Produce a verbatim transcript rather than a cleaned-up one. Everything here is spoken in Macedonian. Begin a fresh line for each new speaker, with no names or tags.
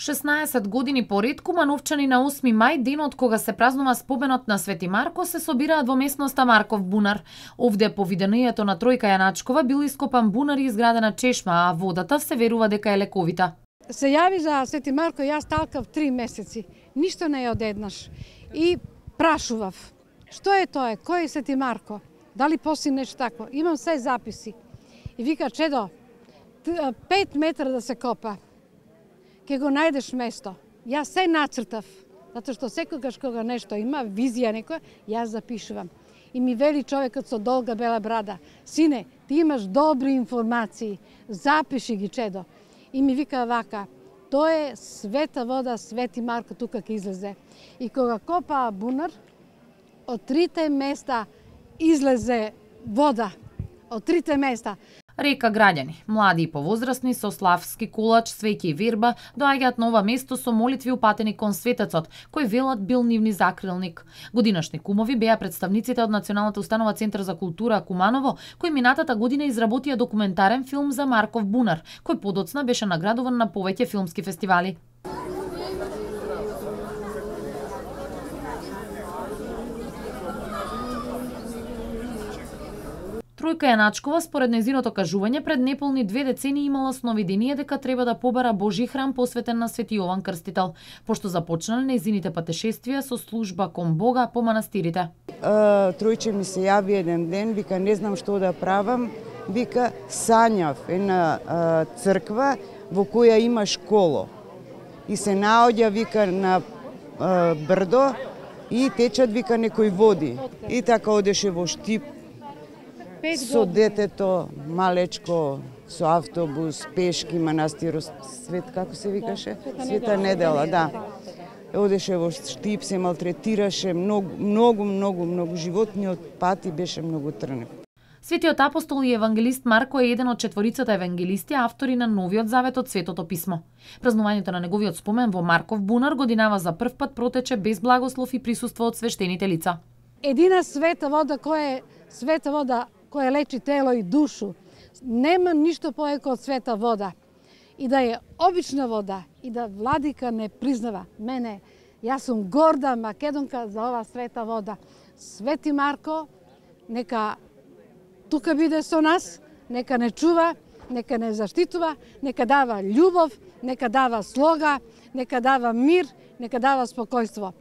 шеснаесет години поред Кумановчани на осми мај, денот кога се празнува споменот на Свети Марко, се собираат во местноста Марков бунар. Овде по видењето на Тројка Јаначкова бил ископан бунар и изградена чешма, а водата се верува дека е лековита.
Се јави за Свети Марко, јас талкав три месеци. Ништо не е одеднаш. И прашував, што е тоа? Кој е Свети Марко? Дали постои нешто тако? Имам се записи. И вика, чедо, пет метра да се копа, ке го најдеш место. Јас се нацртав, затоа што секогаш кога нешто има, визија некоја, јас запишувам. И ми вели човекот со долга бела брада, сине, ти имаш добри информации, запиши ги, чедо. И ми вика вака, тоа е света вода, Свети Марко тука ке излезе. И кога копаа бунар, од трите места излезе вода. Од трите места.
Река граѓани, млади и повозрасни со славски колач, свеќе и верба, доаѓаат на ова место со молитви упатени кон светецот, кој велат бил нивни закрилник. Годинашни кумови беа представниците од Националната установа Центар за култура Куманово, кој минатата година изработија документарен филм за Марков бунар, кој подоцна беше наградуван на повеќе филмски фестивали. Тројка Јаначкова, според нејзиното кажување, пред неполни две децении имала сновидение дека треба да побара Божи храм посветен на Свети Јован Крстител, пошто започнале нејзините патешествија со служба кон Бога по манастирите.
Тројче ми се јави еден ден, вика, не знам што да правам, вика, сањав една црква во која има школо. И се наоѓа, вика, на брдо и течат, вика, некои води. И така одеше во Штип, со детето, малечко, со автобус, пешки, манастир, свет, како се викаше? Света недела, да. Одеше во Штип, се малтретираше, многу, многу, многу, многу. Животниот пати беше многу трнев.
Светиот апостол и евангелист Марко е еден од четворицата евангелисти, автори на Новиот Завет од Светото писмо. Празнувањето на неговиот спомен во Марков бунар годинава за прв пат протече без благослов и присуство од свештените лица.
Едина света вода која е света вода која лечи тело и душу. Нема ништо поеко од света вода. И да е обична вода, и да владика не признава мене. Јас сум горда македонка за ова света вода. Свети Марко, нека тука биде со нас, нека не чува, нека не заштитува, нека дава љубов, нека дава слога, нека дава мир, нека дава спокојство.